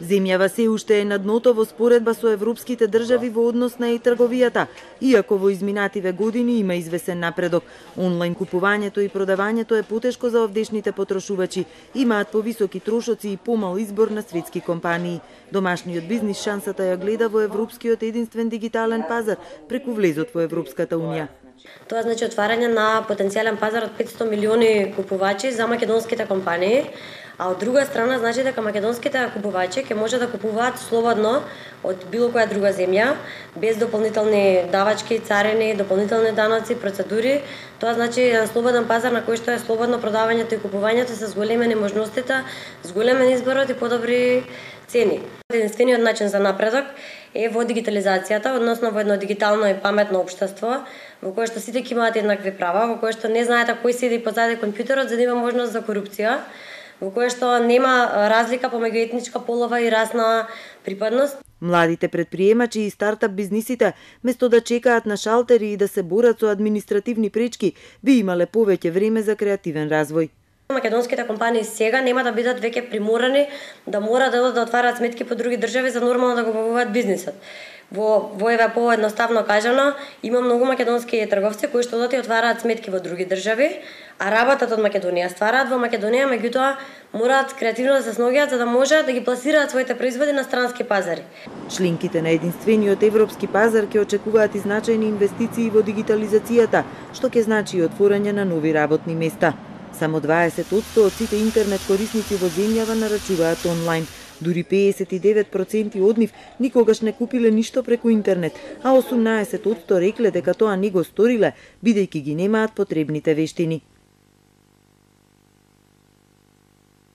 Земјава се уште е на дното во споредба со европските држави во однос на трговијата, иако во изминативе години има извесен напредок. Онлайн купувањето и продавањето е потешко за овдешните потрошувачи, имаат повисоки трошоци и помал избор на светски компании. Домашниот бизнис шансата ја гледа во европскиот единствен дигитален пазар преку влезот во Европската унија. Тоа значи отварање на потенцијален пазар од 500 милиони купувачи за македонските компании, а од друга страна значи дека македонските купувачи ќе може да купуваат слободно од било која друга земја, без дополнителни давачки, царини, дополнителни даноци, процедури. Тоа значи еден слободен пазар на кој што е слободно продавањето и купувањето се зголемени можностите, зголемен изборот и подобри цени. Единствениот начин за напредок е во дигитализацијата, односно во едно дигитално и паметно општество, во кое што сите ќе имаат еднакви права, во кое што не знаете кој седи позади компјутерот за да има можност за корупција, во кое што нема разлика помеѓу етничка, полова и расна припадност. Младите предприемачи и стартап бизнисите, место да чекаат на шалтери и да се борат со административни пречки, би имале повеќе време за креативен развој. Македонските компании сега нема да бидат веќе приморани да мора да отварат сметки по други држави за нормално да го обавуваат бизнисот. Во еве поедноставно кажано, има многу македонски трговци кои што одат и отвараат сметки во други држави, а работат од Македонија, ствараат во Македонија, меѓутоа мораат креативно да се сногиат за да може да ги пласираат своите производи на странски пазари. Членките на единствениот европски пазар ќе очекуваат и значајни инвестиции во дигитализацијата, што ќе значи и отворање на нови работни места. Само 20% од сите интернет корисници во земјава нарачуваат онлайн. Дури 59% од нив никогаш не купиле ништо преку интернет, а 18% рекле дека тоа не го сториле, бидејќи ги немаат потребните вештини.